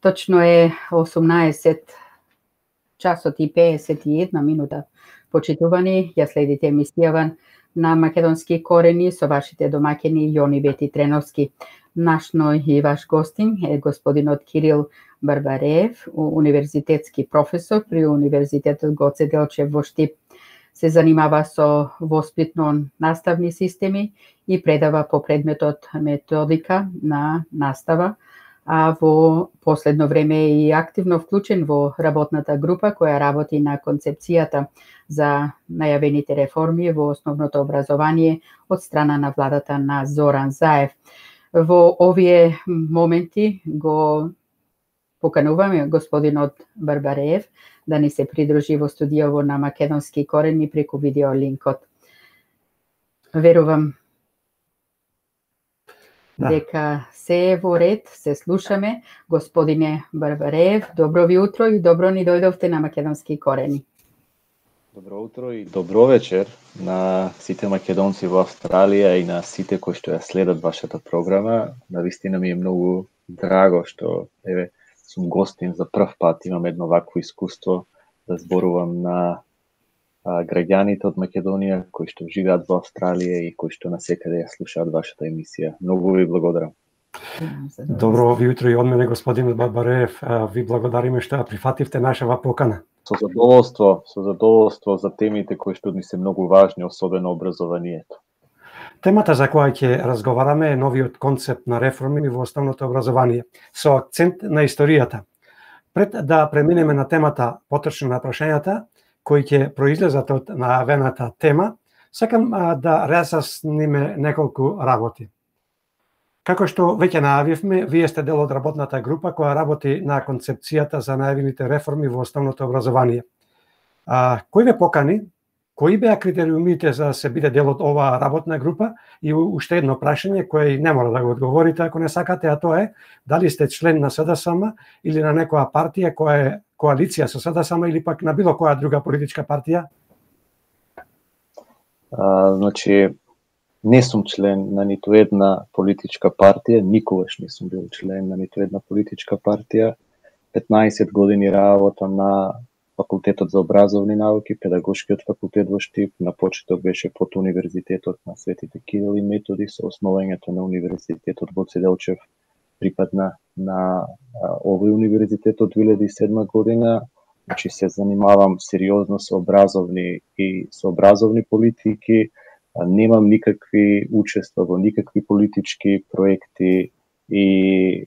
Точно е 18 часот и 51 минута. Почитувани, ја следите емисијава на Македонски корени со вашите домаќини Јони Вети Треновски. Нашној и ваш гостин е господинот Кирил Барбареев, универзитетски професор при Универзитетот Гоце Делчев во Штип. Се занимава со воспитно-наставни системи и предава по предметот методика на настава, а во последно време е и активно вклучен во работната група која работи на концепцијата за најавените реформи во основното образование од страна на владата на Зоран Заев. Во овие моменти го покануваме господинот Барбареев да ни се придружи во студиово на Македонски корени преку видеолинкот. Верувам дека се е во ред, се слушаме. Господине Барбареев, добро ви утро и добро ни дојдовте на Македонски корени. Добро утро и добро вечер на сите македонци во Австралија и на сите кои што ја следат вашата програма. Навистина ми е многу драго што сум гостин за прв пат, имам едно вакво искуство да зборувам на граѓаните од Македонија кои што живеат во Австралија и кои што насекаде ја слушаат вашата емисија. Многу ви благодарам. Добро ви утро и од мене, господин Барбареев. Ви благодариме што ја прифативте нашава покана. Со задоволство за темите кои што ни се многу важни, особено образованието. Темата за која ќе разговараме е новиот концепт на реформи во основното образование, со акцент на историјата. Пред да преминеме на темата, потрчно на прашањата кои ќе произлезат од најавената тема, сакам да разјасниме неколку работи. Како што веќе најавивме, вие сте дел од работната група која работи на концепцијата за најавените реформи во основното образование. Кој ве покани? Кои беа критериумите за да се биде дел од оваа работна група? И уште едно прашање кое не мора да го одговорите ако не сакате, а тоа е дали сте член на СДСМ или на некоја партија која е коалиција со СДСМ или пак на било која друга политичка партија? Значи, не сум член на ниту една политичка партија, никогаш не сум бил член на ниту една политичка партија. 15 години работам на Факултетот за образовни науки, Педагошкиот факултет во Штип, на почеток беше под Универзитетот на Светите Кирил и Методи, со основањето на Универзитетот Гоце Делчев припадна на овој универзитет од 2007 година. Значи се занимавам сериозно со образовни политики, немам никакви учества во никакви политички проекти и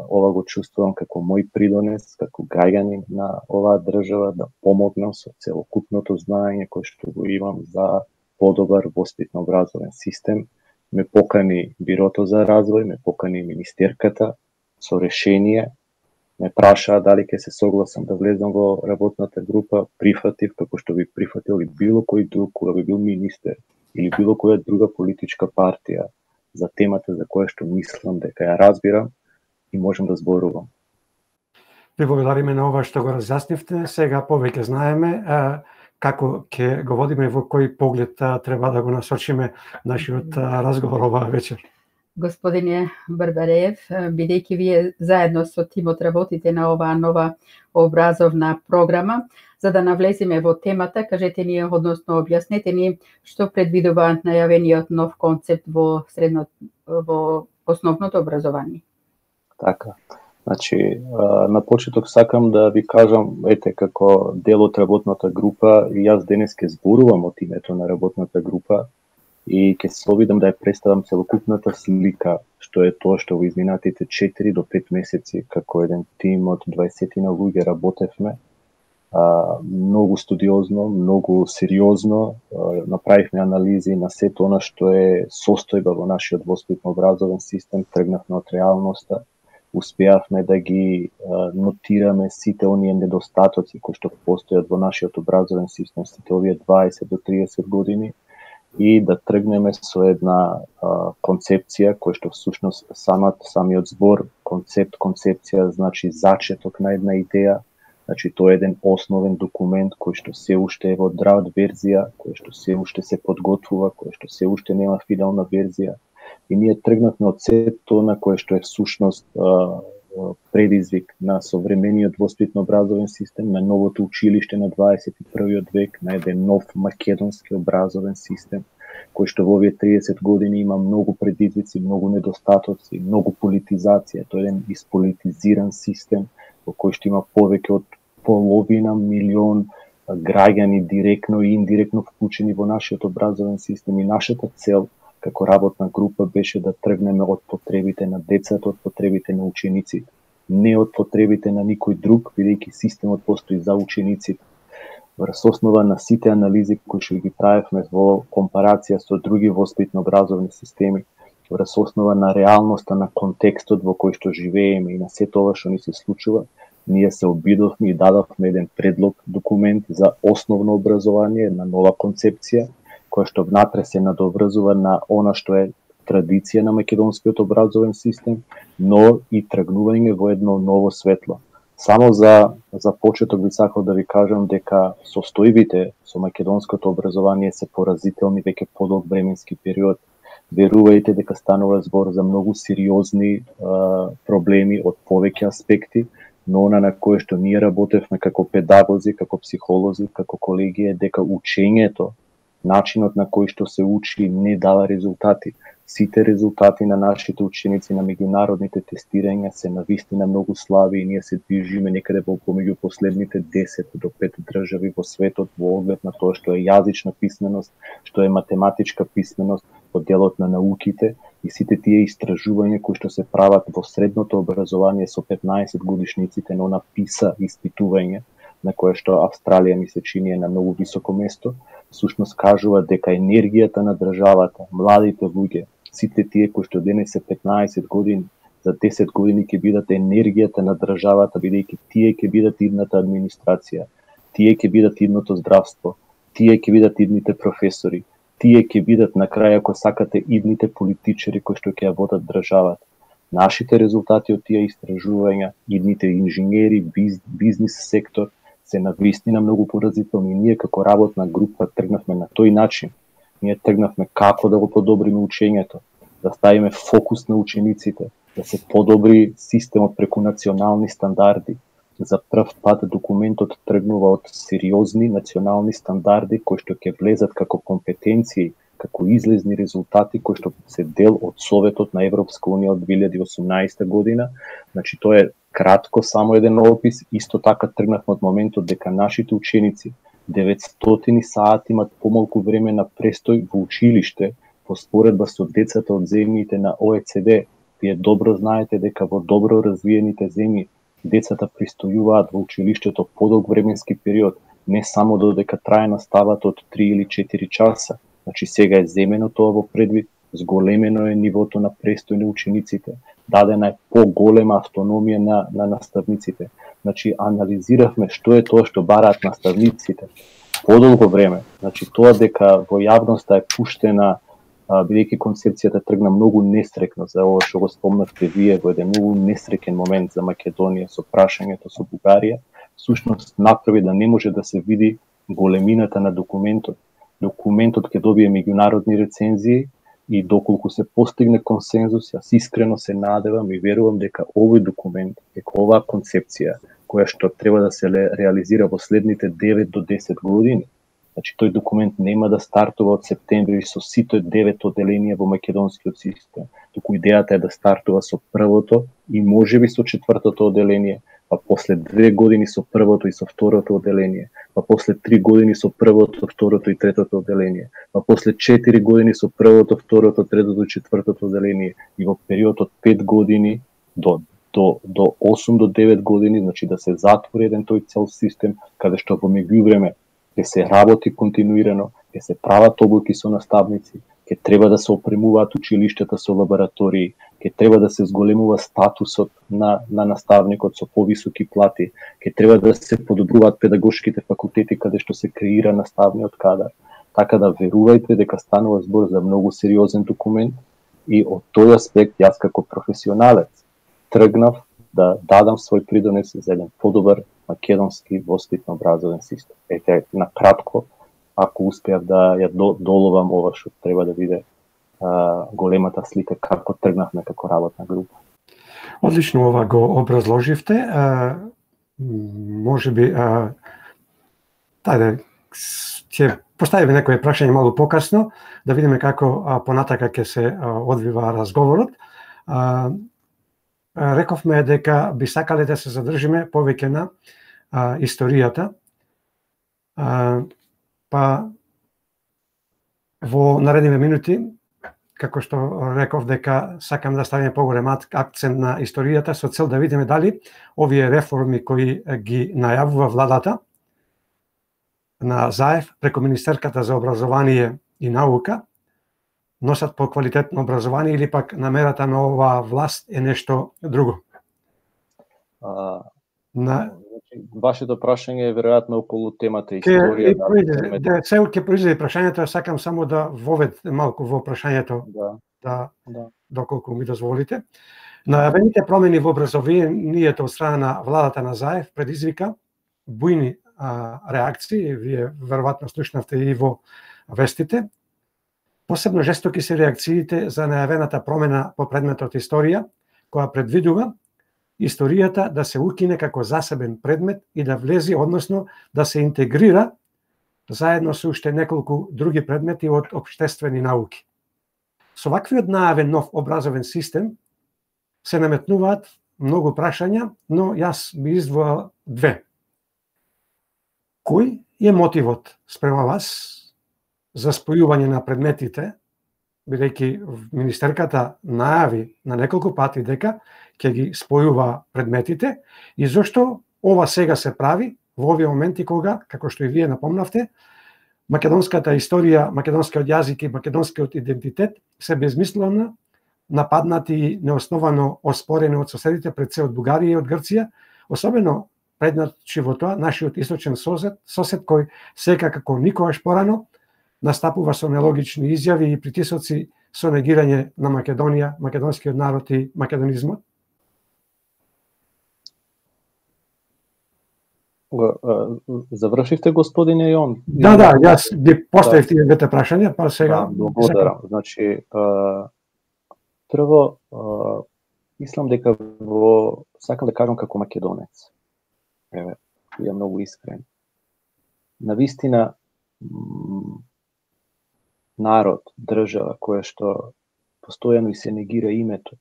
ова го чувствувам како мој придонес, како граѓанин на оваа држава, да помогнам со целокупното знаење кое што го имам за подобар воспитно-образовен систем. Ме покани Бирото за развој, ме покани министерката со решение, ме прашаа дали ќе се согласам да влезам во работната група, прифатив, како што би прифатил и било кој друг кога би бил министер или било која друга политичка партија за темата за која што мислам дека ја разбирам и можем да зборувам. Ви благодариме на ова што го разјаснивте. Сега повеќе знаеме како ќе го водиме, во кој поглед треба да го насочиме нашиот разговор оваа вечер. Господине Барбареев, бидејќи вие заедно со тимот работите на оваа нова образовна програма, за да навлеземе во темата, кажете ни, односно објаснете ни што предвидува најавениот нов концепт во основното образование. Така. Значи, на почеток сакам да ви кажам, како дел од работната група, и јас денес ќе зборувам од името на работната група и ќе се обидам да ја представам целокупната слика, што е тоа што во изминатите 4 до 5 месеци како еден тим од 20 луѓе работевме. Многу студиозно, многу сериозно, направивме анализи на сето она што е состојба во нашиот воспитно-образовен систем, тргнавме од реалноста, успеавме да ги нотираме сите оние недостатоци кои што постојат во нашиот образовен систем сите овие 20 до 30 години и да тргнеме со една концепција која што всушност самиот збор концепција значи зачеток на една идеја. Значи тоа е еден основен документ кој што се уште е во драфт верзија, кој што се уште се подготвува, кој што се уште нема финална верзија. И ние тргнавме од сето на кое што е всушност предизвик на современиот воспитно образовен систем, на новото училиште на 21. век, на еден нов македонски образовен систем, кој што во овие 30 години има многу предизвици, многу недостатоци, многу политизација. Тоа е еден исполитизиран систем во кој што има повеќе од половина милион граѓани директно и индиректно вклучени во нашиот образовен систем, и нашата цел како работна група беше да тргнеме од потребите на децата, од потребите на учениците, не од потребите на никој друг, бидејќи системот постои за учениците. Врз основа на сите анализи кои што ги правевме во компарација со други воспитно образовни системи, врз основа на реалноста, на контекстот во кој што живееме и на сето тоа што ни се случува, ние се обидовме и дадовме еден предлог документ за основно образование, на нова концепција, која што внатре се надоврзува на она што е традиција на македонскиот образовен систем, но и тргнување во едно ново светло. Само за почеток би сакал да ви кажам дека состојбите со македонското образование се поразителни веќе подолг временски период. Верувајте дека станува збор за многу сериозни проблеми од повеќе аспекти, но она на кое што ние работевме како педагози, како психолози, како колеги е дека учењето, начинот на кој што се учи не дава резултати. Сите резултати на нашите ученици на меѓународните тестирања се навистина многу слаби и ние се движиме некаде помеѓу последните 10 до 5 држави во светот во оглед на тоа што е јазична писменост, што е математичка писменост во делот на науките, и сите тие истражувања кои што се прават во средното образование со 15 годишниците на она PISA испитување, на кое што Австралија ми се чини е на многу високо место, всушност кажува дека енергијата на државата, младите луѓе, сите тие кои што денес се 15 години, за 10 години ќе бидат енергијата на државата, бидејќи тие ќе бидат идната администрација, тие ќе бидат идното здравство, тие ќе бидат идните професори, тие ќе бидат на крај, ако сакате, идните политичари кои што ќе ја водат државата. Нашите резултати од тие истражувања, идните инженери, бизнис сектор, се навистина многу поразителни. Ние како работна група тргнавме на тој начин. Ние тргнавме како да го подобриме учењето, да ставиме фокус на учениците, да се подобри системот преку национални стандарди. За прв пат документот тргнува од сериозни национални стандарди кои што ќе влезат како компетенции, како излезни резултати кои што се дел од Советот на Европска унија од 2018 година. Значи тоа е кратко само еден опис. Исто така тргнавме од моментот дека нашите ученици 900 сати имат помалку време на престој во училиште во споредба со децата од земјите на ОЕЦД. Вие добро знаете дека во добро развиените земји децата престојуваат во училиштето подолг временски период, не само додека трае наставата од 3 или 4 часа. Значи сега е земено тоа во предвид, зголемено е нивото на престој на учениците, дадена е поголема автономија на наставниците. Значи анализиравме што е тоа што бараат наставниците подолго време. Значи тоа дека во јавноста е пуштена, бидејќи концепцијата тргна многу несрекно, за ова што го спомнавте вие, во еден многу несреќен момент за Македонија со прашањето со Бугарија, всушност направи да не може да се види големината на документот. Документот ќе добие меѓународни рецензии и доколку се постигне консензус, јас искрено се надевам и верувам дека овој документ, дека оваа концепција која што треба да се реализира во следните 9 до 10 години, значи тој документ нема да стартува од септември со сите 9 оделенија во македонскиот систем, туку идејата е да стартува со првото и можеби со четвртото оделение, па после 2 години со првото и со второто оделение, па после 3 години со првото, второто и третото оделение, па после 4 години со првото, второто, третото и четвртото оделение, и во период од 5 години до 8 до 9 години, значи да се затвори еден тој цел систем, каде што во меѓувреме ќе се работи континуирано, ќе се прават обуки со наставници, ќе треба да се опремуваат училиштата со лаборатории, ќе треба да се зголемува статусот на наставникот со повисоки плати, ќе треба да се подобруваат педагошките факултети каде што се креира наставниот кадар. Така да верувајте дека станува збор за многу сериозен документ и од тој аспект јас како професионалец тргнав да дадам свој придонес за еден подобар македонски воспитно образовен систем. Ете, на кратко, ако успеав да ја доловам ова што треба да биде големата слика како тргнавме како работна група. Одлично ова го образложивте. Може би ќе поставиме некои прашања малку покасно, да видиме како понатака ќе се одвива разговорот. Рековме дека би сакале да се задржиме повеќе на историјата. Па во наредните минути, како што реков дека сакам да ставиме поголем акцент на историјата со цел да видиме дали овие реформи кои ги најавува владата на Заев преку Министерката за образование и наука носат поквалитетно образование или пак намерата на оваа власт е нешто друго? Вашето прашање е веројатно околу темата историја. Се ќе произведе прашањето, сакам само да вовед малку во прашањето, доколку ми дозволите. Најавените промени во образованието од страна на владата на Заев предизвика бујни реакции, вие веројатно слушнавте и во вестите. Посебно жестоки се реакциите за најавената промена по предметот историја, која предвидува историјата да се укине како засебен предмет и да влези, односно да се интегрира заедно со уште неколку други предмети од општествени науки. Со ваквиот најавен нов образовен систем се наметнуваат многу прашања, но јас би издвоил две. Кој е мотивот спрема вас за спојување на предметите, бидејќи министерката најави на неколку пати дека ќе ги спојува предметите, и зошто ова сега се прави во овие моменти кога, како што и вие напомнавте, македонската историја, македонскиот јазик и македонскиот идентитет се безмислено нападнати и неосновано оспорени од соседите, пред се од Бугарија и од Грција, особено предначи во тоа нашиот источен сосед кој сега како никогаш порано настапува со нелогични изјави и притисоци со негирање на Македонија, македонскиот народ и македонизмот? Завршивте, господине Јон? Да, јас ги поставив тие двете прашања, па сега... Благодарам. Значи, прво, мислам дека сакам да кажам како македонец. Ја многу искрен. Навистина, народ, држава, која што постојано и се негира името,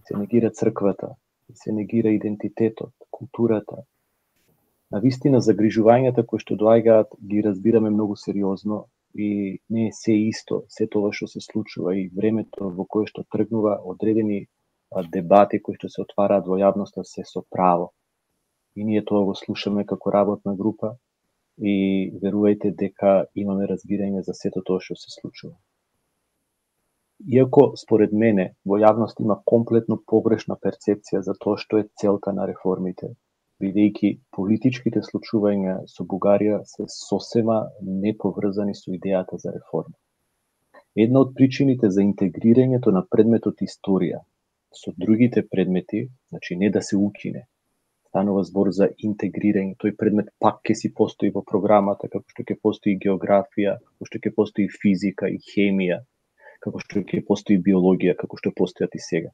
се негира црквата, се негира идентитетот, културата. Навистина, загрижувањата кои што доаѓаат ги разбираме многу сериозно и не е се исто, се тоа што се случува и времето во кое што тргнува, одредени дебати кои што се отвараат во јавноста се со право. И ние тоа го слушаме како работна група и верувајте дека имаме разбирање за сето тоа што се случува. Иако, според мене, во јавност има комплетно погрешна перцепција за тоа што е целта на реформите, бидејќи политичките случувања со Бугарија се сосема неповрзани со идејата за реформа. Една од причините за интегрирањето на предметот историја со другите предмети, значи не да се укине, станува збор за интегрирање, тој предмет пак ќе си постои во програмата, како што ќе постои географија, како што ќе постои физика и хемија, како што ќе постои биологија, како што постојат и сега.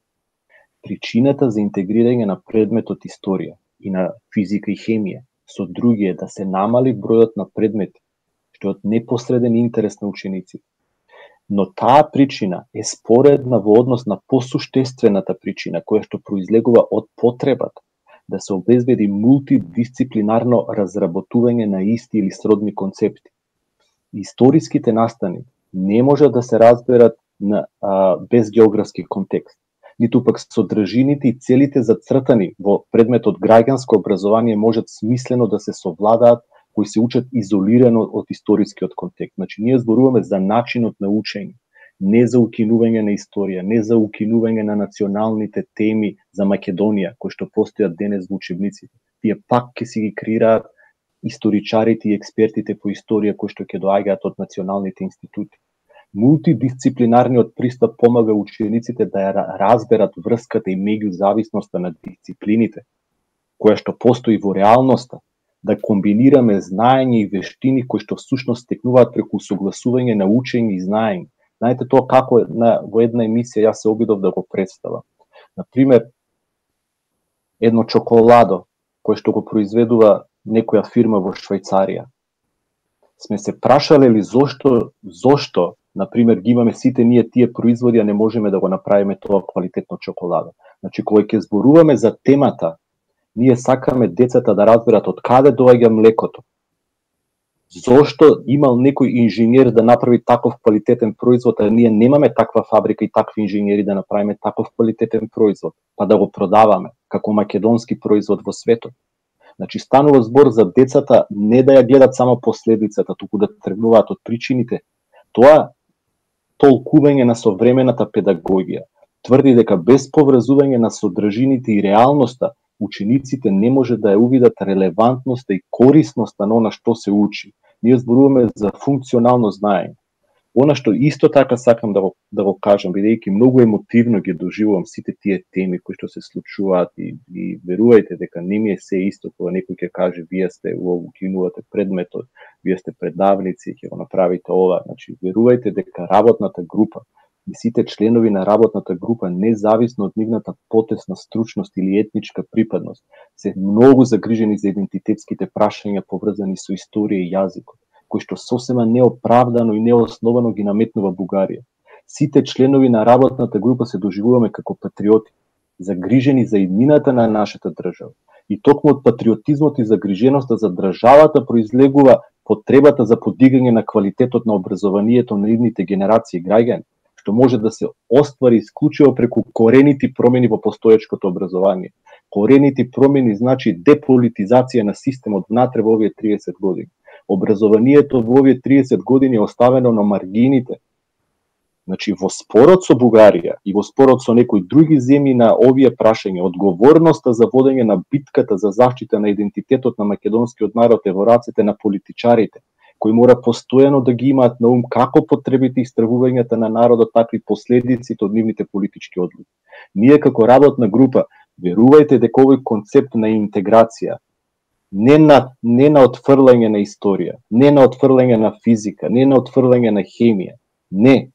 Причината за интегрирање на предметот историја и на физика и хемија со други е да се намали бројот на предмети, што е од непосреден интерес на учениците. Но таа причина е споредна во однос на посуштествената причина, која што произлегува од потребата да се обезбеди мултидисциплинарно разработување на исти или сродни концепти. Историските настани не можат да се разберат без географски контекст, ниту пак содржините и целите зацртани во предметот граѓанско образование можат смислено да се совладаат кои се учат изолирано од историскиот контекст. Значи, ние зборуваме за начинот на учење, не за укинување на историја, не за укинување на националните теми за Македонија, кои што постојат денес во учебниците. Тие пак ќе си ги креираат историчарите и експертите по историја кои што ќе доаѓаат од националните институти. Мултидисциплинарниот пристап помага учениците да ја разберат врската и меѓузависноста на дисциплините, која што постои во реалноста, да комбинираме знаење и вештини кои што всушност стекнуваат преку согласување на учење и знаење. Знаете тоа како во една емисија јас се обидов да го представам. Например, едно чоколадо кое што го произведува некоја фирма во Швајцарија. Сме се прашале ли зошто, например, ги имаме сите ние тие производи, а не можеме да го направиме тоа квалитетно чоколадо. Значи, кога ќе зборуваме за темата, ние сакаме децата да разберат од каде доаѓа млекото. Зошто имал некој инженер да направи таков квалитетен производ, а ние немаме таква фабрика и такви инженери да направиме таков квалитетен производ, па да го продаваме како македонски производ во светот. Значи, станува збор за децата не да ја гледат само последицата, туку да тргнуваат од причините. Тоа толкување на современата педагогија тврди дека без поврзување на содржините и реалноста, учениците не може да ја увидат релевантноста и корисноста на она што се учи. Ние зборуваме за функционално знаење. Она што исто така сакам да го кажам, бидејќи многу емотивно ги доживувам сите тие теми кои што се случуваат и верувајте дека не ми е се исто кога некој ќе каже вие сте укинувате предметот, вие сте предавници, ќе го направите ова. Значи, верувајте дека работната група и сите членови на работната група, независно од нивната потесна стручност или етничка припадност, се многу загрижени за идентитетските прашања поврзани со историја и јазикот, кој што сосема неоправдано и неосновано ги наметнува Бугарија. Сите членови на работната група се доживуваме како патриоти, загрижени за иднината на нашата држава. И токму од патриотизмот и загриженоста за државата произлегува потребата за подигање на квалитетот на образованието на идните генерации граѓани, што може да се оствари исклучиво преку коренити промени во постоечкото образование. Коренити промени значи деполитизација на системот внатре во овие 30 години. Образованието во овие 30 години е оставено на маргините. Значи, во спорот со Бугарија и во спорот со некои други земји на овие прашања, одговорноста за водење на битката за заштита на идентитетот на македонскиот народ е во рацете на политичарите, кои мора постојано да ги имаат на ум како потребите и стравувањата на народот, така и последиците од нивните политички одлуки. Ние како работна група верувајте дека овој концепт на интеграција, не на отфрлање на историја, не на отфрлање на физика, не на отфрлање на хемија, не.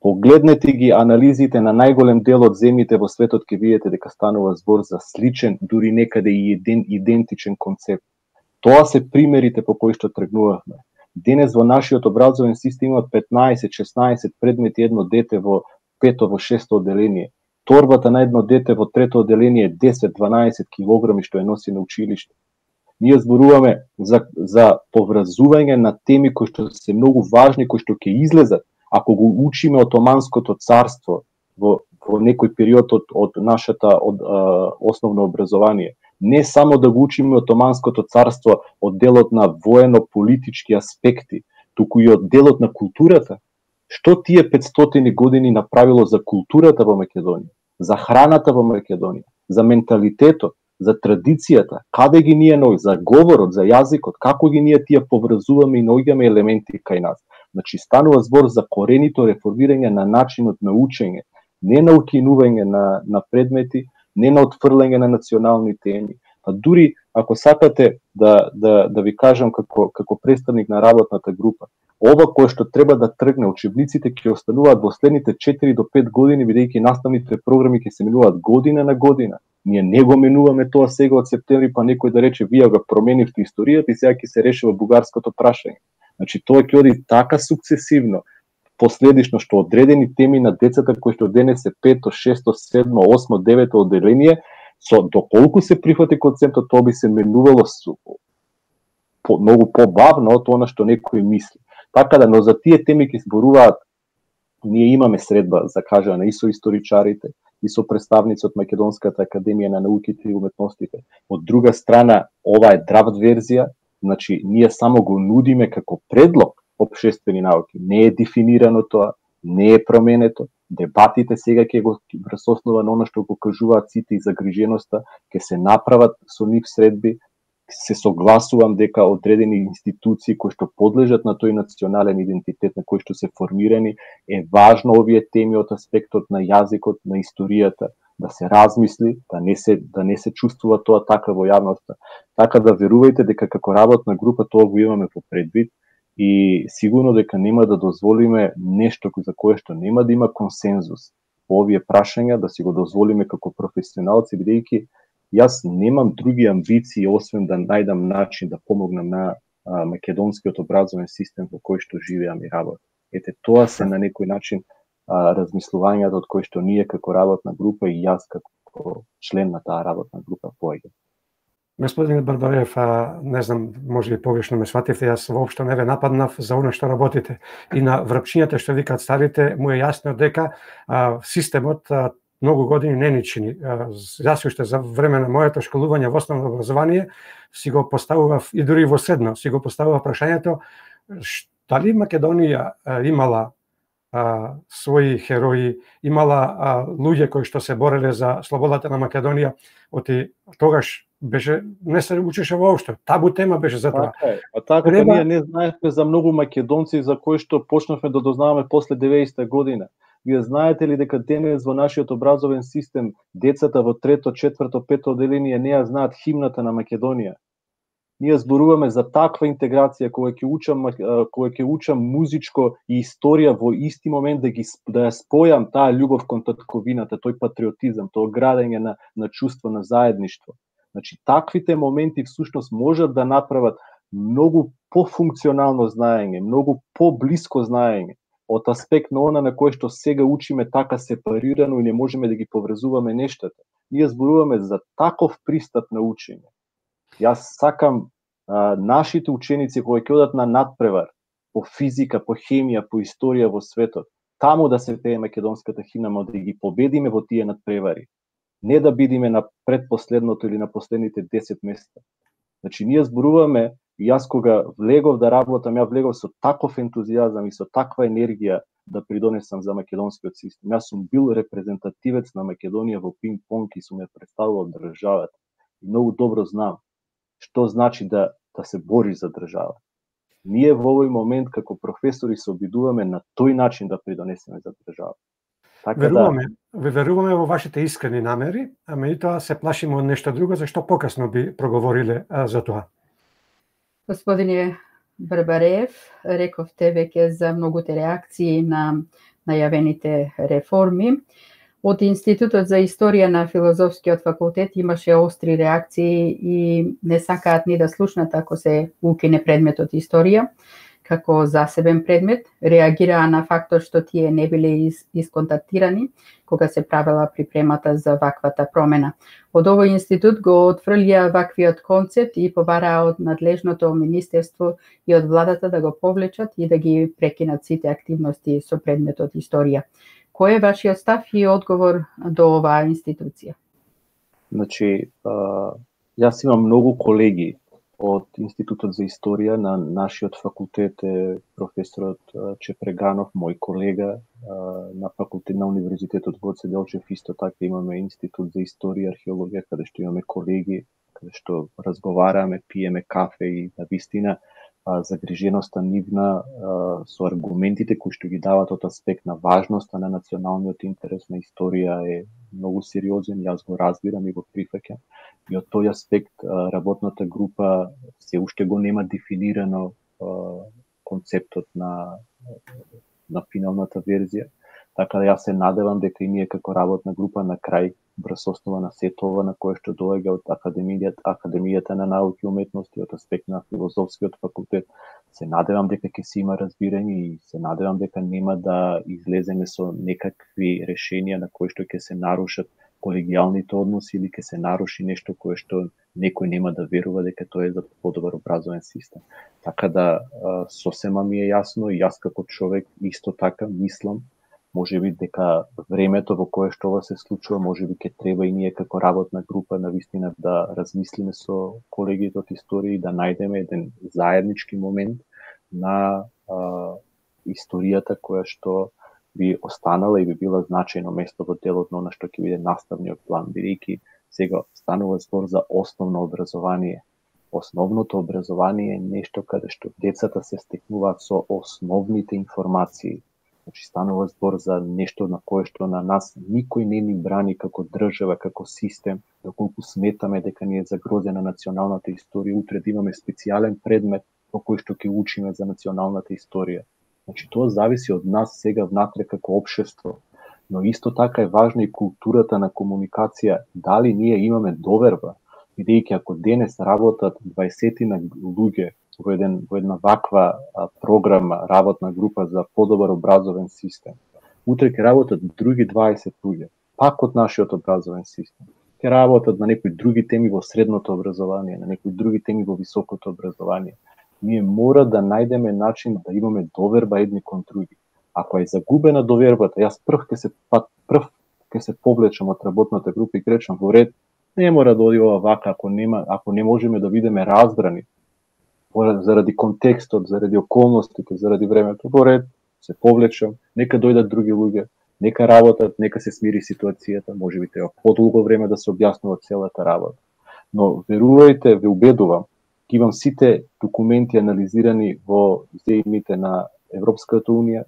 Погледнете ги анализите на најголем дел од земјите во светот, ќе видите дека станува збор за сличен, дури некаде и идентичен концепт. Тоа се примерите по кои што тргнувавме. Денес во нашиот образовен систем има 15-16 предмети едно дете во 5-то, во 6-то одделение. Торбата на едно дете во 3-то одделение е 10-12 килограми што ја носи на училиште. Ние зборуваме за поврзување на теми кои што се многу важни, кои што ќе излезат ако го учиме Отоманското царство во некој период од нашата основно образование. Не само да го учиме Отоманското царство од делот на воено-политички аспекти, туку и од делот на културата. Што тие 500 години направило за културата во Македонија, за храната во Македонија, за менталитетот, за традицијата, каде ги ние за говорот, за јазикот, како ги ние тие поврзуваме и наоѓаме елементи кај нас. Значи, станува збор за коренито реформирање на начинот на учење, не на укинување на предмети, не на отфрлање на национални теми. Па дури, ако сакате да ви кажам како представник на работната група, ова кое што треба да тргне, учебниците ќе остануваат во следните 4 до 5 години, бидејќи наставните програми ќе се менуваат година на година. Ние не го менуваме тоа сега од септември, па некој да рече, вие го променивте историјата и сега ќе се решава бугарското прашање. Значи, тоа ќе оди така сукцесивно, последично, што одредени теми на децата кои што денес се 5-то, 6-то, 7-то, 8-то, 9-то одделение, со доколку се прифати концептот, тоа би се менувало многу побавно од она што некој мисли. Така да, но за тие теми ќе зборуваат, ние имаме средба за кажано и со историчарите, и со представници од Македонската академија на науките и уметностите. Од друга страна, ова е драфт верзија, значи ние само го нудиме како предлог општествени науки. Не е дефинирано тоа, не е променето. Дебатите сега ќе го врз основа на она што го кажуваат сите и загриженоста, ќе се направат со нив средби. Се согласувам дека одредени институции кои што подлежат на тој национален идентитет, на кој што се формирани, е важно овие теми од аспектот на јазикот, на историјата, да се размисли, да не се чувствува тоа така во јавноста. Така да верувајте дека како работна група тоа го имаме во предвид и сигурно дека нема да дозволиме нешто за кое што нема да има консензус по овие прашања, да си го дозволиме како професионалци, бидејќи јас немам други амбиции освен да најдам начин да помогнам на македонскиот образовен систем во кој што живеам и работам. Ете, тоа се на некој начин размислувањата од кои што ние како работна група и јас како член на таа работна група поаѓам. Господине Барбареев, не знам, може и погрешно ме свативте, јас воопшто не ве нападнав за оно што работите. И на врапчињата што викаат старите, му е јасно дека системот многу години не ни чини. Јас уште за време на моето школување во основно образование си го поставував и дури во средно, си го поставував прашањето дали Македонија имала своји херои, имала луѓе кои што се бореле за слободата на Македонија, оти тогаш беше не се учеше воопшто. Табу тема беше за тоа. Така ние не знаевме за многу македонци за кои што почнавме да дознаваме после 90-та година. Вие знаете ли дека денес во нашиот образовен систем децата во 3-то, 4-то, 5-то одделение не ја знаат химната на Македонија? Ние зборуваме за таква интеграција кога ќе учам музичко и историја во исти момент да ја спојам таа љубов кон татковината, тој патриотизам, тоа градење на чувство на заедништво. Значи, таквите моменти всушност можат да направат многу пофункционално знаење, многу поблиско знаење од аспект на она на кој што сега учиме така сепарирано и не можеме да ги поврзуваме нештата. Ние зборуваме за таков пристап на учење. Јас сакам нашите ученици кои ќе одат на надпревар по физика, по хемија, по историја во светот, таму да се пее македонската химна, да ги победиме во тие надпревари. Не да бидиме на предпоследното или на последните 10 места. Значи, ние зборуваме, и јас кога влегов да работам, ја влегов со таков ентузијазам и со таква енергија да придонесам за македонскиот систем. Јас сум бил репрезентативец на Македонија во пинг-понг и сум ја представувал државата. И многу добро знам што значи да се бори за држава. Ние во овој момент како професори се обидуваме на тој начин да придонесеме за држава. Веруваме во вашите искрени намери, а меѓутоа се плашиме од нешто друго, зашто покасно би проговориле за тоа. Господине Барбареев, рековте веќе за многуте реакции на најавените реформи. Од Институтот за историја на Филозофскиот факултет имаше остри реакции и не сакаат ни да слушнат ако се укине предметот историја како засебен предмет, реагираа на фактот што тие не биле исконтактирани кога се правела припремата за ваквата промена. Од овој институт го отфрлија ваквиот концепт и побараа од надлежното министерство и од владата да го повлечат и да ги прекинат сите активности со предметот историја. Кој е вашиот став и одговор до оваа институција? Значи, јас имам многу колеги од Институтот за историја на нашиот факултет е професорот Чепреганов, мој колега на факултет на Универзитетот Гоце Делчев, исто така имаме Институт за историја и археологија, каде што имаме колеги, каде што разговараме, пиеме кафе и на вистина загриженоста нивна со аргументите кои што ги дават од аспект на важноста на националниот интерес на историја е многу сериозен, јас го разбирам и го прифаќам. И од тој аспект работната група се уште го нема дефинирано концептот на финалната верзија. Така да јас се надевам дека и ние како работна група на крај, врз основа на сето ова на кое што доаѓа од Академијата на науки и уметности, од аспект на Филозофскиот факултет, се надевам дека ќе се има разбирање и се надевам дека нема да излеземе со некакви решенија на кои што ќе се нарушат колегијалните односи или ќе се наруши нешто кое што некој нема да верува дека тоа е за подобар образовен систем. Така да сосема ми е јасно и јас како човек исто така мислам, можеби дека времето во кое што ова се случува, можеби ќе треба и ние како работна група навистина да размислиме со колегите од историја и да најдеме еден заеднички момент на историјата која што би останала и би била значајно место во делот на она што ќе биде наставниот план, бидејќи сега станува збор за основно образование. Основното образование е нешто каде што децата се стекнуваат со основните информации. Значи, станува збор за нешто на кое што на нас никој не ни брани како држава, како систем, доколку сметаме дека ни е загрозена националната историја, утре да имаме специјален предмет по кој што ќе учиме за националната историја. Значи, тоа зависи од нас сега внатре како општество, Но исто така е важна и културата на комуникација, дали ние имаме доверба, бидејќи ако денес работат 20 луѓе во една ваква програма, работна група за подобар образовен систем, утре ќе работат други 20 луѓе, пак од нашиот образовен систем. Ќе работат на некои други теми во средното образование, на некои други теми во високото образование. Ние мора да најдеме начин да имаме доверба едни кон други. Ако е загубена довербата, јас прв ќе се повлечам од работната група и речам во ред, не мора да оди ова вака ако не можеме да бидеме разбрани заради контекстот, заради околностите, заради времето, во ред се повлечам, нека дојдат други луѓе, нека работат, нека се смири ситуацијата, можеби треба подолго време да се објаснува целата работа. Но верувајте, ве убедувам, ќе имам сите документи анализирани во земјите на Европската унија,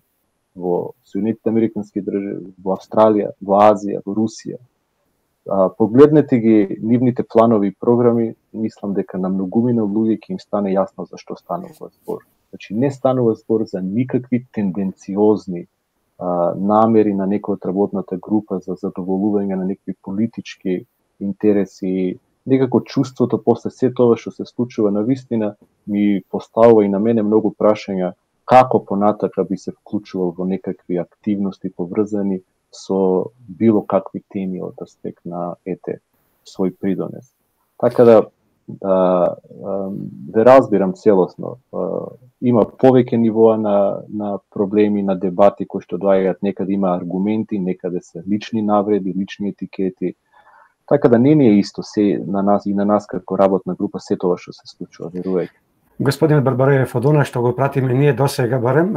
во Соединетите американски држави, во Австралија, во Азија, во Русија. Погледнете ги нивните планови и програми, мислам дека на многумина луѓе ќе им стане јасно за што станува збор. Значи не станува збор за никакви тенденциозни намери на некој од работната група за задоволување на некакви политички интереси. Некако чувството после се тоа што се случува на вистина ми поставува и на мене многу прашања како понатака би се вклучувал во некакви активности поврзани со било какви теми од аспект на свој придонес. Така да разбирам целосно. Има повеќе нивоа на проблеми, на дебати кои што доаѓаат, некаде има аргументи, некаде се лични навреди, лични етикети. Така да не е исто се на нас и на нас како работна група се тоа што се случува, верувајте. Господин Барбареев, од она што го пратиме ние досега барем,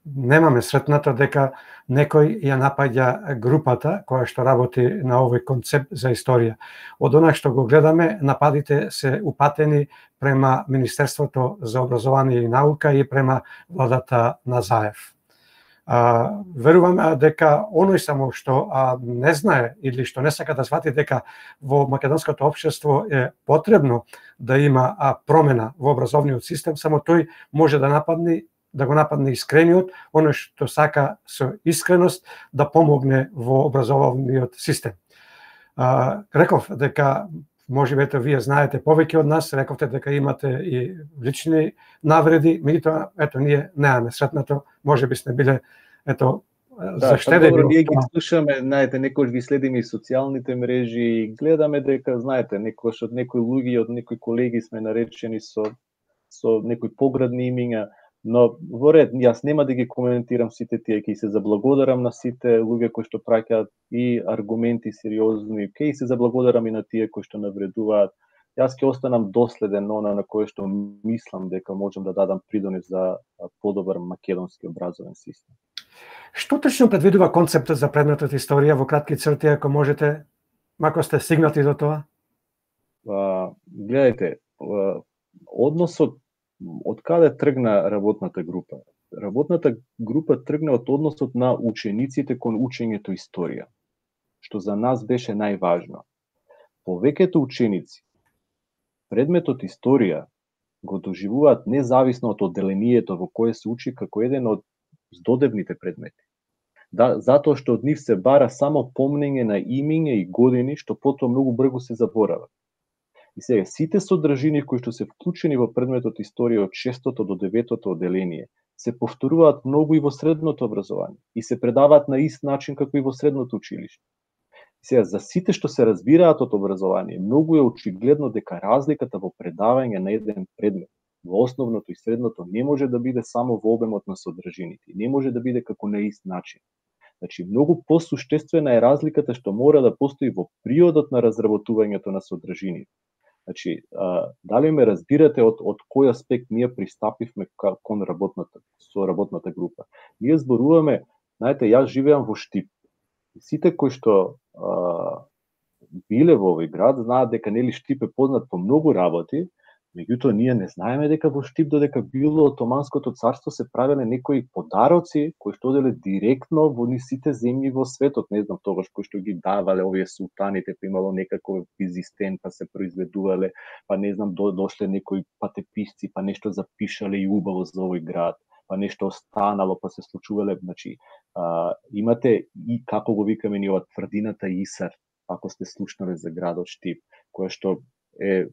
немаме сретнато дека некој ја напаѓа групата која што работи на овој концепт за историја. Од она што го гледаме, нападите се упатени према Министерството за образование и наука и према владата на Заев. Верувам дека оној само што не знае или што не сака да свати дека во македонското општество е потребно да има промена во образовниот систем, само тој може да го нападне искрениот, оној што сака со искреност да помогне во образовниот систем. Реков дека можеби вие знаете повеќе од нас, рековте дека имате и лични навреди, меѓутоа ние немаме сретнато, можеби сме биле заштедени. Добро, ние ги слушаме, знаете, некој ги следиме и социјалните мрежи и гледаме дека, знаете, некој од некои луѓе, од некои колеги сме наречени со некои поградни имиња, но во ред, јас нема да ги коментирам сите тие, ќе се заблагодарам на сите луѓе кои што праќаат и аргументи сериозни, ќе се заблагодарам и на тие кои што навредуваат. Јас ќе останам доследен на кое што мислам дека можам да дадам придонес за подобар македонски образовен систем. Што точно предвидува концептот за предметот историја во кратки црти, ако можете, мако сте стигнати до тоа? Гледајте, односот од каде тргна работната група? Работната група тргна од односот на учениците кон учењето историја, што за нас беше најважно. Повеќето ученици предметот историја го доживуваат независно од одделението во кое се учи како еден од здодевните предмети. Затоа што од нив се бара само помнење на имиња и години што потоа многу брзо се заборават. И сега, сите содржини кои што се вклучени во предметот историја од 6-то до 9-то одделение се повторуваат многу и во средното образование и се предаваат на ист начин како и во средното училиште. И сега, за сите што се разбираат од образование, многу е очигледно дека разликата во предавање на еден предмет во основното и средното не може да биде само во обемот на содржините, не може да биде како на ист начин. Значи, многу посуштествена е разликата што мора да постои во приодот на разработувањето на содржините. Значи, дали ме разбирате од кој аспект ние пристапивме кон работната група? Ние зборуваме, знаете, јас живеам во Штип. Сите кои што биле во овој град знаат дека нели Штип е познат по многу работи, меѓутоа ние не знаеме дека во Штип додека било Отоманското царство се правеле некои подароци кои што оделе директно во сите земји во светот, не знам тогаш кои што ги давале овие султаните, па имало некаков визистен, па се произведувале, па не знам дошле некои патеписци, па нешто запишале и убаво за овој град, па нешто останало, па се случувале, значи имате и како го викаме ние од тврдината Исар, ако сте слушнале за градот Штип, кој што е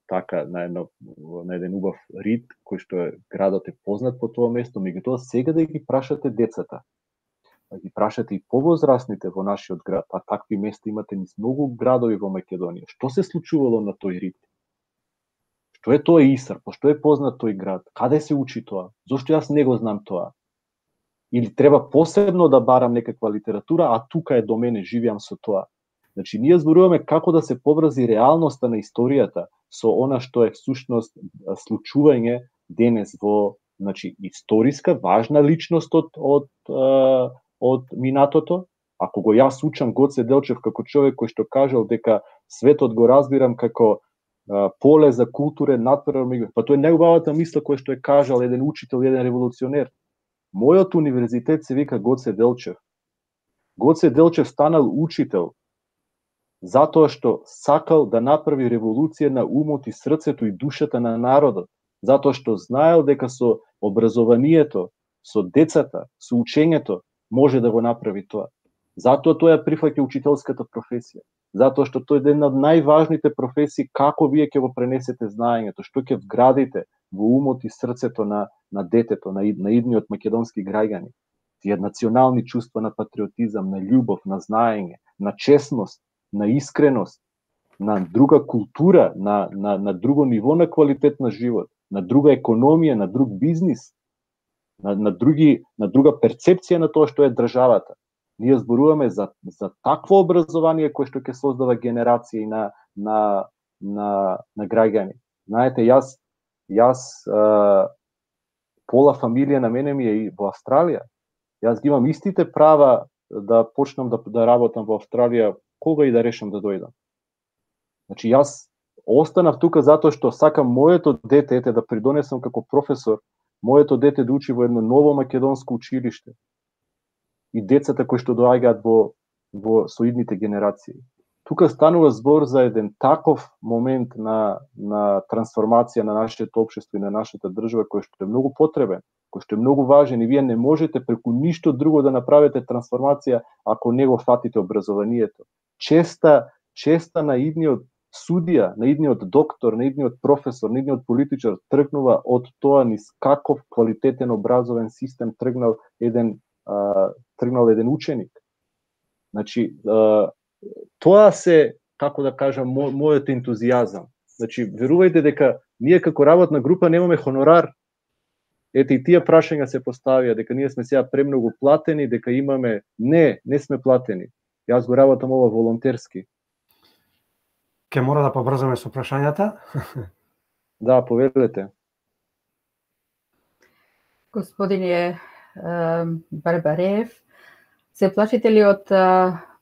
така на еден убав рид, кој што градот е познат по тоа место, меѓутоа сега да ги прашате децата, да ги прашате и повозрастните во нашиот град, а такви места имате низ многу градови во Македонија. Што се случувало на тој рид? Што е тоа Исар? Пошто е познат тој град? Каде се учи тоа? Зошто јас не го знам тоа? Или треба посебно да барам некаква литература, а тука е до мене, живеам со тоа. Значи, ние зборуваме како да се поврзи реалноста на историјата со она што е всушност случување денес во, значи, историска, важна личност од минатото. Ако го јас учам Гоце Делчев како човек кој што кажал дека светот го разбирам како поле за културен натприроден, па тоа е најубавата мисла која што е кажал еден учител, еден револуционер. Мојот универзитет се вика Гоце Делчев. Гоце Делчев станал учител затоа што сакал да направи револуција на умот и срцето и душата на народот, затоа што знаел дека со образованието, со децата, со учењето може да го направи тоа. Затоа тој ја прифаќа учителската професија, затоа што тој е една од најважните професии како вие ќе го пренесете знаењето, што ќе вградите во умот и срцето на детето, на идниот македонски граѓани. Тие национални чувства на патриотизам, на љубов, на знаење, на честност, на искреност, на друга култура, на друго ниво на квалитет на живот, на друга економија, на друг бизнис, на друга перцепција на тоа што е државата. Ние зборуваме за такво образование кое што ќе создава генерации на граѓани. Знаете, јас пола фамилија на мене ми е и во Австралија. Јас ги имам истите права да почнам да работам во Австралија кога и да решам да дојдам. Значи, јас останав тука затоа што сакам моето дете, да придонесам како професор, моето дете да учи во едно ново македонско училиште и децата кои што доаѓаат во соидните генерации. Тука станува збор за еден таков момент на трансформација на нашето општество и на нашата држава кој што е многу потребен, кој што е многу важен и вие не можете преку ништо друго да направите трансформација ако не го фатите образованието. Честа на идниот судија, на идниот доктор, на идниот професор, на идниот политичар тргнува од тоа низ каков квалитетен образовен систем тргнал еден ученик. Значи, тоа се, како да кажам, мојот ентузијазам. Значи, верувајте дека ние како работна група немаме хонорар. Ете и тие прашања се поставија, дека ние сме сега премногу платени, дека имаме... Не сме платени. Јас го работам ова волонтерски. Ке мора да побрзаме со прашањата. Да, повелете. Господине Барбарев, се плашите ли од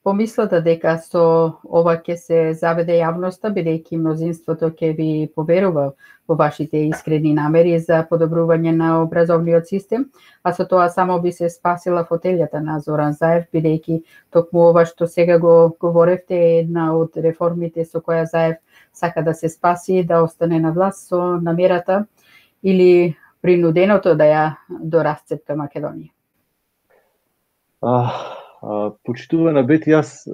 помислата дека со ова ќе се заведе јавноста, бидејќи мнозинството ќе ви поверува во вашите искрени намери за подобрување на образовниот систем, а со тоа само би се спасила фотелјата на Зоран Заев, бидејќи токму ова што сега го говоревте е една од реформите со која Заев сака да се спаси, да остане на власт со намерата или принуденото да ја дорасцепка Македонија? Почитувана Бети, јас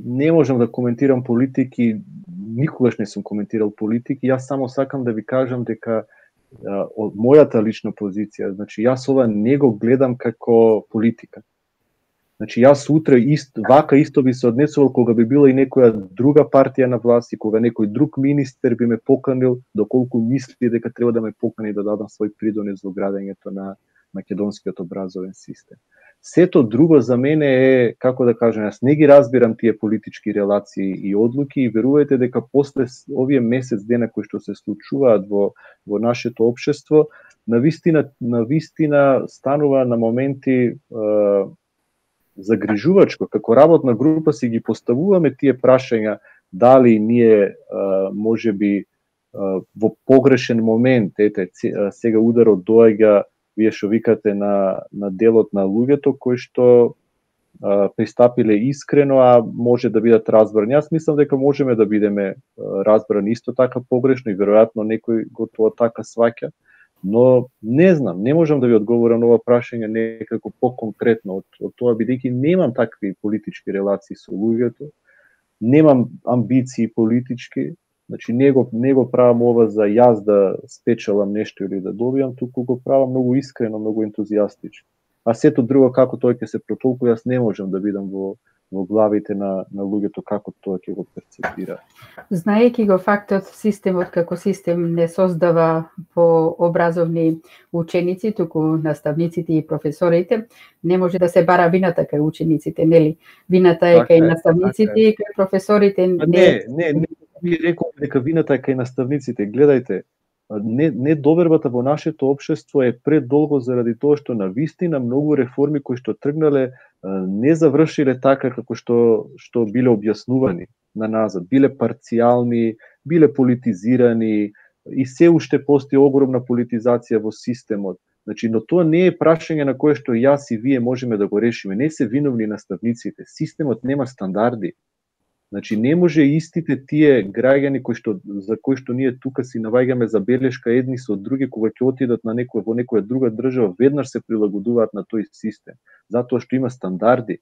не можам да коментирам политики, никогаш не сум коментирал политики, јас само сакам да ви кажам дека од мојата лична позиција, значи јас ова не го гледам како политика. Значи јас утре вака исто би се однесувал кога би била и некоја друга партија на власт и кога некој друг министер би ме поканил, доколку мисли дека треба да ме покани да дадам свој придонес во градењето на македонскиот образовен систем. Сето друго за мене е, како да кажам, јас не ги разбирам тие политички релации и одлуки и верувајте дека после овие месец дена кои што се случуваат во нашето општество, навистина станува на моменти загрижувачко. Како работна група си ги поставуваме тие прашања, дали ние можеби во погрешен момент, сега ударот доаѓа, вие што викате на делот на луѓето кои што пристапиле искрено, а може да бидат разбрани. Јас мислам дека можеме да бидеме разбрани исто така погрешно и веројатно некој го тоа така сваќа. Но не знам, не можам да ви одговорам на ова прашање некако поконкретно од тоа, бидејќи немам такви политички релации со луѓето, немам амбиции политички, значи не го правам ова за јас да спечелам нешто или да добијам, туку го правам многу искрено, многу ентузијастички. А сето друго како тој ќе се протолкува, јас не можам да видам во главите на луѓето како тоа ќе го перцепира. Знаејќи го фактот, системот како систем не создава по образовни ученици, туку наставниците и професорите, не може да се бара вината кај учениците, нели? Вината е кај наставниците и кај професорите. Не би рекол дека вината е кај наставниците. Гледајте, недовербата во нашето општество е предолго заради тоа што навистина многу реформи кои што тргнале не завршиле така како што биле објаснувани на назад, биле парцијални, биле политизирани и се уште постои огромна политизација во системот. Значи, но тоа не е прашање на кое што јас и вие можеме да го решиме. Не се виновни наставниците. Системот нема стандарди. Значи, не може истите тие граѓани за кои што ние тука си наваѓаме забелешка едни со други, кога ќе отидат во некоја друга држава, веднаш се прилагодуваат на тој систем. Затоа што има стандарди.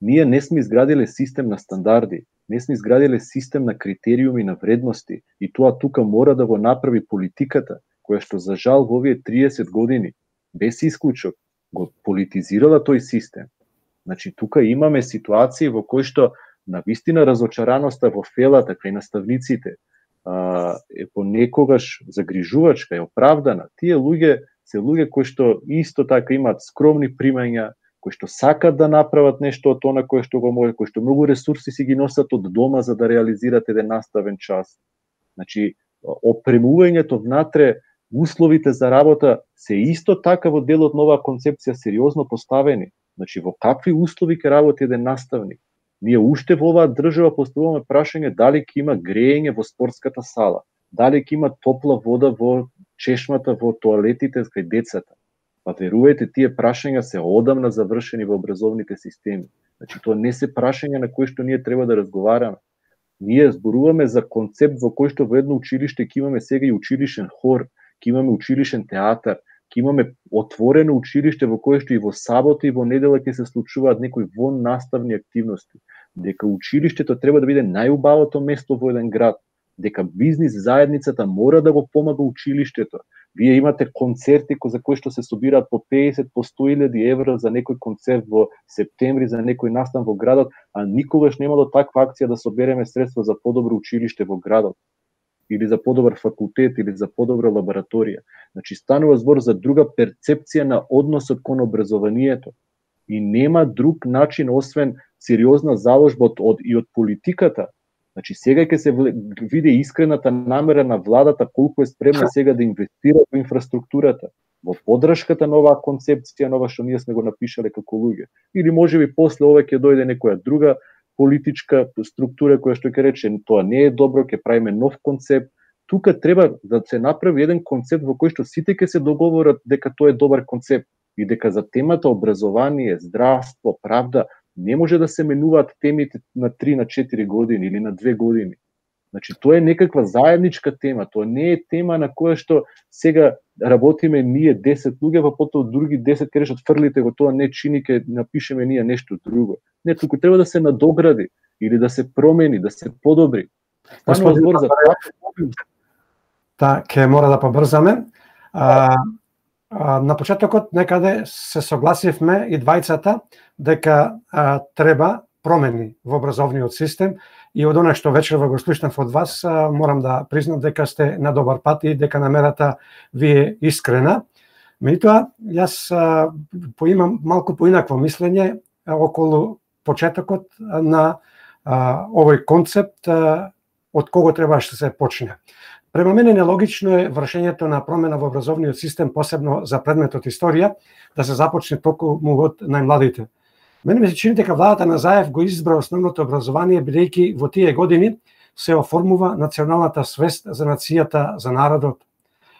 Ние не сме изградиле систем на стандарди, не сме изградиле систем на критериуми, на вредности. И тоа тука мора да го направи политиката, која што за жал во овие 30 години, без исклучок, го политизирала тој систем. Значи, тука имаме ситуации во кои што навистина разочараноста во фелата кај наставниците е понекогаш загрижувачка, е оправдана. Тие луѓе се луѓе кои што исто така имаат скромни примања, кои што сакат да направат нешто од она кое што го може, кои што многу ресурси си ги носат од дома за да реализират еден наставен час. Значи, опремувањето внатре, условите за работа се исто така во делот на оваа концепција сериозно поставени. Значи, во какви услови ќе работи еден наставник? Ние уште во оваа држава поставуваме прашање дали ќе има греење во спортската сала, дали ќе има топла вода во чешмата, во тоалетите кај децата. Па верувајте, тие прашања се одамна завршени во образовните системи. Значи, тоа не се прашања на кои што ние треба да разговараме. Ние зборуваме за концепт во кој што во едно училиште ќе имаме сега и училишен хор, ќе имаме училишен театар, ќе имаме отворено училиште во кое што и во сабота и во недела ќе се случуваат некои воннаставни активности. Дека училиштето треба да биде најубавото место во еден град, дека бизнис заедницата мора да го помага училиштето. Вие имате концерти за кои што се собираат по 50, по 100.000 евра за некој концерт во септември, за некој настан во градот, а никогаш немало таква акција да собереме средства за подобро училиште во градот, или за подобар факултет, или за подобра лабораторија. Значи, станува збор за друга перцепција на односот кон образованието. И нема друг начин, освен сериозна заложба од политиката. Значи, сега ќе се види искрената намера на владата колку е спремна сега да инвестира во инфраструктурата, во поддршката на оваа концепција, нова што ние сме го напишале како луѓе. Или можеби после ова ќе дојде некоја друга политичка структура која што ќе рече тоа не е добро, ќе правиме нов концепт. Тука треба да се направи еден концепт во кој што сите ќе се договорат дека тоа е добар концепт и дека за темата образование, здравство, правда не може да се менуваат темите на 3 на 4 години или на 2 години. Значи тоа е некаква заедничка тема, тоа не е тема на која што сега работиме ние 10 луѓе, па потоа други 10 ќе решат фрлите го тоа, не чини, ќе напишеме ние нешто друго. Не, туку треба да се надогради или да се промени, да се подобри. Господин, ќе мора да побрзаме. На почетокот некаде се согласивме и двајцата дека треба промени во образовниот систем и од она што вечерва го слушнав од вас, морам да признам дека сте на добар пат и дека намерата ви е искрена. Меѓутоа, јас поимам малку поинакво мислење околу почетокот на овој концепт, од кого требаше да се почне. Према мене нелогично е вршењето на промена во образовниот систем, посебно за предметот историја, да се започне токму од најмладите. Мене ми се чини дека владата на Заев го избра основното образование, бидејќи во тие години се оформува националната свест за нацијата, за народот.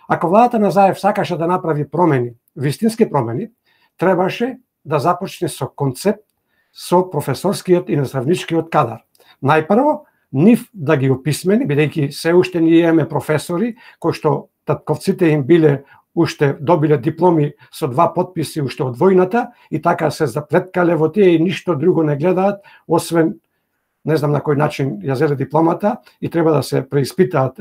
Ако владата на Заев сакаше да направи промени, вистински промени, требаше да започне со концепт со професорскиот и наставничкиот кадар. Најпрво, нив да ги описмени, бидејќи се уште ние имаме професори кои што татковците им биле уште добиле дипломи со 2 потписи уште од војната и така се заплеткале во тие и ништо друго не гледаат, освен не знам на кој начин ја зеле дипломата и треба да се преиспитаат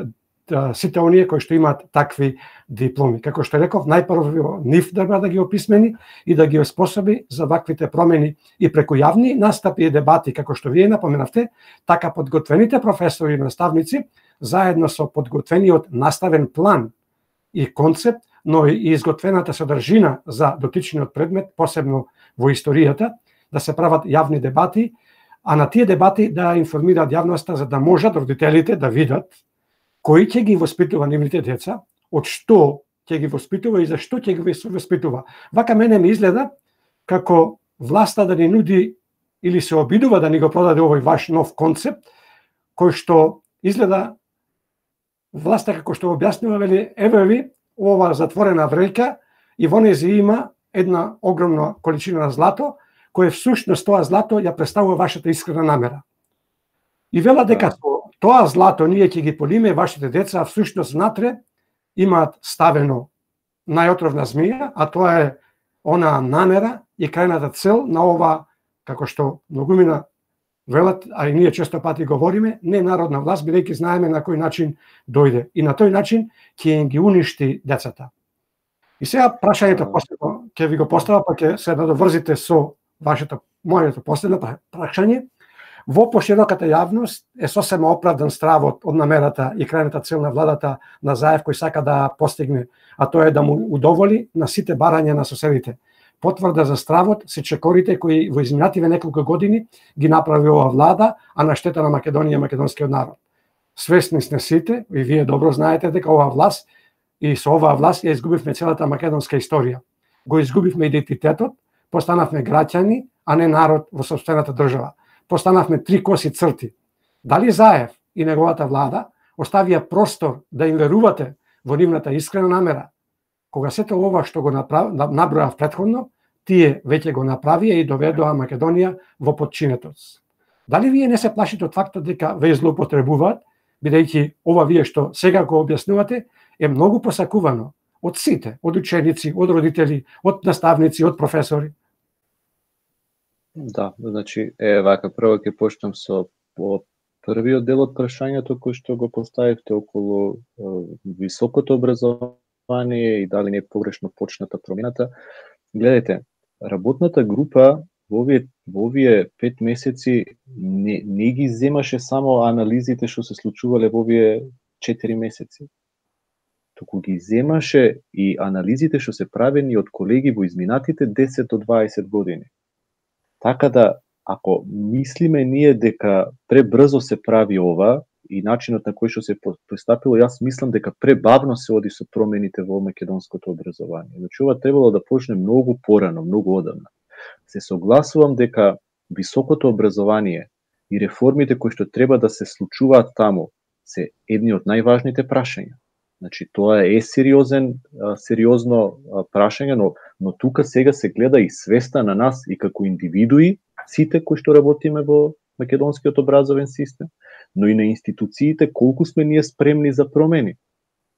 сите оние кои што имаат такви дипломи. Како што реков, најпрво нив треба да ги описмени и да ги оспособи за ваквите промени и преку јавни настапи и дебати, како што вие напоменавте, така подготвените професори и наставници, заедно со подготвениот наставен план и концепт, но и изготвената содржина за дотичниот предмет, посебно во историјата, да се прават јавни дебати, а на тие дебати да информираат јавноста за да можат родителите да видат кој ќе ги воспитува нивните деца, од што ќе ги воспитува и за што ќе ги воспитува. Вака мене ми изгледа како власта да ни нуди или се обидува да ни го продаде овој ваш нов концепт, кој што изгледа власта како што објаснува, вели, еве ви ова затворена вреќа и во нејзе има една огромна количина на злато, кој всушност тоа злато ја представува вашата искрена намера. И вела дека тоа злато ние ќе ги полиме вашите деца, а всушност внатре имаат ставено најотровна змија, а тоа е она намера и крајната цел на ова, како што многумина велат, а и ние често пати говориме, не народна власт, бидејќи знаеме на кој начин дојде. И на тој начин ќе им ги уништи децата. И сега прашањето последно ќе ви го поставам, па ќе се надоврзите со моето последно прашање. Во пошироката јавност е сосема оправдан стравот од намерата и крајната цел на владата на Заев кој сака да постигне, а тоа е да му удоволи на сите барања на соседите. Потврда за стравот се чекорите кои во изминативе неколку години ги направи ова влада, а на штета на Македонија и македонскиот народ. Свесни сме сите, и вие добро знаете дека оваа власт и со оваа власт ја изгубивме целата македонска историја. Го изгубивме идентитетот, постанавме граѓани, а не народ во сопствената држава. Постанавме 3 коси црти. Дали Заев и неговата влада оставија простор да им верувате во нивната искрена намера? Кога сето ова што го набројав претходно, тие веќе го направија и доведоа Македонија во подчинетост. Дали вие не се плашите од фактот дека ве злоупотребуваат, бидејќи ова вие што сега го објаснувате е многу посакувано од сите, од ученици, од родители, од наставници, од професори? Да, значи, вака, прво ќе почнам со првиот дел од прашањето кој што го поставивте околу високото образование и дали не е погрешно почната промената. Гледайте, работната група во овие 5 месеци не ги земаше само анализите што се случувале во овие 4 месеци. Туку ги земаше и анализите што се правени од колеги во изминатите 10 до 20 години. Така да, ако мислиме ние дека пребрзо се прави ова и начинот на кој што се пристапило, јас мислам дека пребавно се оди со промените во македонското образование. Значи, ова требало да почне многу порано, многу одамна. Се согласувам дека високото образование и реформите кои што треба да се случуваат таму се едни од најважните прашања. Значи, тоа е сериозно прашање, но тука сега се гледа и свеста на нас и како индивидуи, сите кои што работиме во македонскиот образовен систем, но и на институциите, колку сме ние спремни за промени,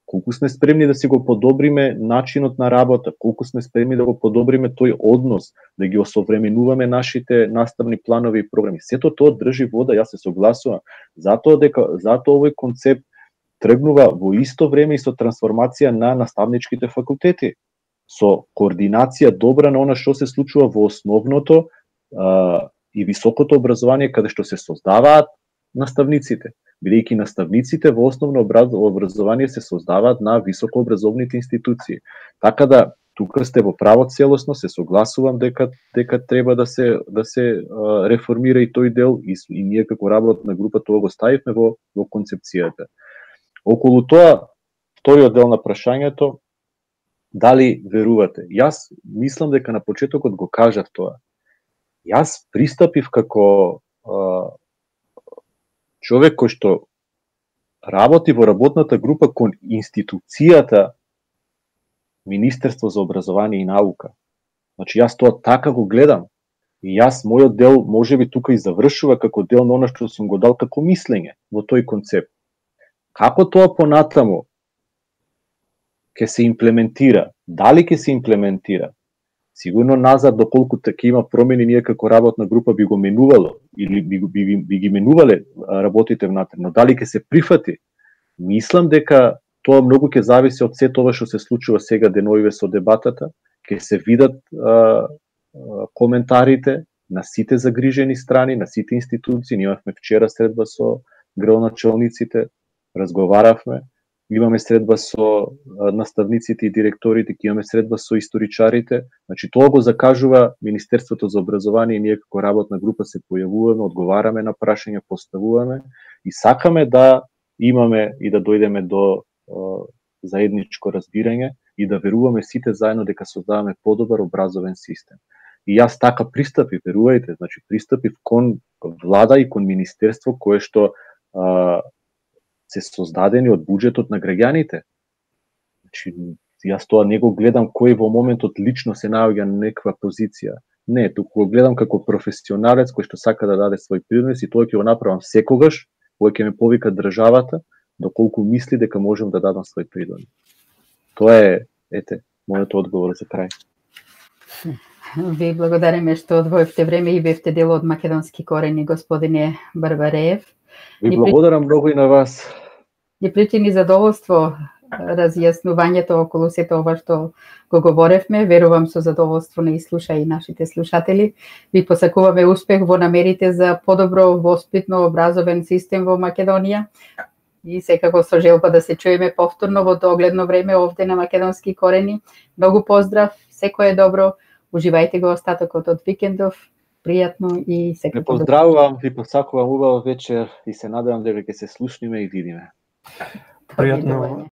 колку сме спремни да си го подобриме начинот на работа, колку сме спремни да го подобриме тој однос, да ги осовременуваме нашите наставни планови и програми. Сето тоа држи вода, јас се согласувам, затоа овој концепт тргнува во исто време и со трансформација на наставничките факултети, со координација добра на она што се случува во основното и високото образование, каде што се создаваат наставниците, бидејќи наставниците во основно образование се создаваат на високообразовните институции. Така да, тука сте во право целосно, се согласувам дека треба да се реформира и тој дел и ние како работна група тоа го ставивме во концепцијата. Околу тоа, вториот дел на прашањето, дали верувате? Јас мислам дека на почетокот го кажав тоа. Јас пристапив како човек кој што работи во работната група кон институцијата Министерство за образование и наука. Значи, јас тоа така го гледам. И јас, мојот дел, можеби тука и завршува како дел на она што сум го дал како мислење во тој концепт. Како тоа понатаму ќе се имплементира. Дали ќе се имплементира? Сигурно назад, доколку така има промени, ние како работна група би го менувало или би ги менувале работите внатре, но дали ќе се прифати? Мислам дека тоа многу ќе зависи од се тоа што се случува сега деновиве со дебатата, ќе се видат коментарите на сите загрижени страни, на сите институции. Ние имавме вчера средба со градоначалниците, разговаравме, имаме средба со наставниците и директорите, ќе имаме средба со историчарите. Значи тоа го закажува Министерството за образование и ние како работна група се појавуваме, одговараме на прашања, поставуваме и сакаме да имаме и да дојдеме до заедничко разбирање и да веруваме сите заедно дека создаваме подобар образовен систем. И јас така пристапив, верувајте, значи пристапив кон влада и кон министерство кое што се создадени од буџетот на граѓаните. Значи, јас тоа не го гледам кој во моментот лично се наоѓа на некаква позиција. Не, туку го гледам како професионалец кој што сака да даде свој принос и тоа ќе го направам секогаш, кога ќе ме повика државата, доколку мисли дека можам да дадам свој принос. Тоа е, мојот одговор за крај. Ви благодариме што одвоивте време и бевте дел од македонски корени, господине Барбареев. Ви благодарам многу и на вас. Ни причини задоволство разјаснувањето околу сето ова што го говоревме. Верувам со задоволство не слуша и нашите слушатели. Ви посакуваме успех во намерите за подобро воспитно образовен систем во Македонија. И секако со желба да се чуеме повторно во догледно време овде на Македонски корени. Многу поздрав, секое добро. Уживајте го остатокот од викендов. Пријатно и секако. Ве поздравувам, ви посакувам убав вечер и се надевам дека ќе се слушниме и видиме. Пријатно.